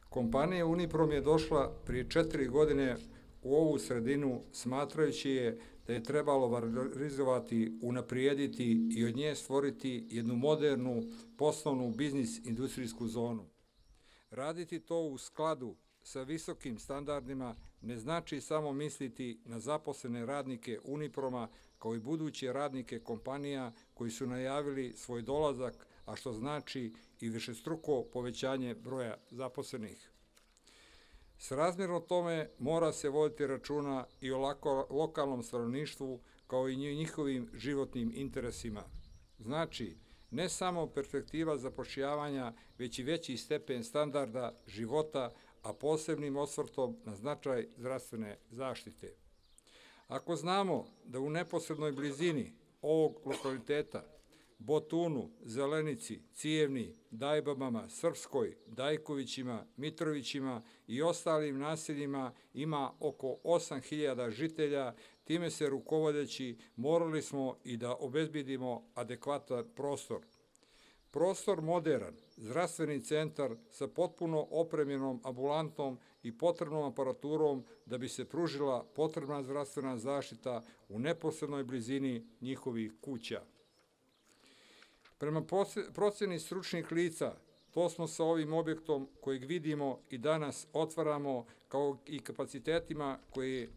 Kompanija Uniprom je došla prije 4 godine u ovu sredinu smatrajući je da je trebalo valorizovati, unaprijediti i od nje stvoriti jednu modernu poslovnu biznis industrijsku zonu. Raditi to u skladu sa visokim standardima ne znači samo misliti na zaposlene radnike Uniproma kao i buduće radnike kompanija koji su najavili svoj dolazak, a što znači i višestruko povećanje broja zaposlenih. Srazmjerno tome mora se voditi računa i o lokalnom stanovništvu kao i njihovim životnim interesima. Znači, ne samo perspektiva zapošljavanja, već i veći stepen standarda života, a posebnim osvrtom na značaj zdravstvene zaštite. Ako znamo da u neposrednoj blizini ovog lokaliteta Botunu, Zelenici, Cijevni, Dajbabama, Srpskoj, Dajkovićima, Mitrovićima i ostalim naseljima ima oko 8.000 žitelja, time se rukovodeći morali smo i da obezbedimo adekvatan prostor. Prostor moderan, zdravstveni centar sa potpuno opremljenom ambulantom i potrebnom aparaturom da bi se pružila potrebna zdravstvena zaštita u neposrednoj blizini njihovih kuća. Prema proceni stručnih lica, to smo sa ovim objektom kojeg vidimo i danas otvaramo kao i kapacitetima koje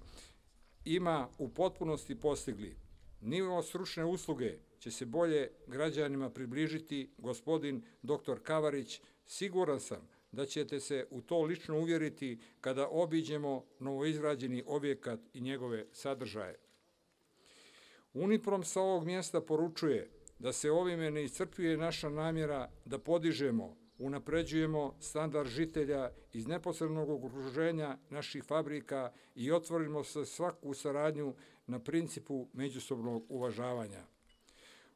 ima u potpunosti postigli. Nivo stručne usluge će se bolje građanima približiti gospodin dr. Kavarić. Siguran sam da ćete se u to lično uvjeriti kada obiđemo novoizgrađeni objekat i njegove sadržaje. Uniprom sa ovog mjesta poručuje da se ovime ne iscrpljuje naša namjera da podižemo, unapređujemo standard žitelja iz neposrednog okruženja naših fabrika i otvorimo se svaku saradnju na principu međusobnog uvažavanja.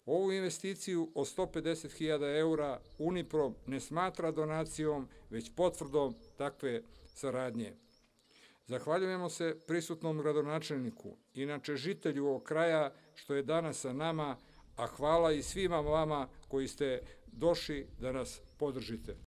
Ovu investiciju od 150.000 eura Uniprom ne smatra donacijom, već potvrdom takve saradnje. Zahvaljujemo se prisutnom gradonačelniku, inače žitelju ovog kraja što je danas sa nama, a hvala i svima vama koji ste došli da nas podržite.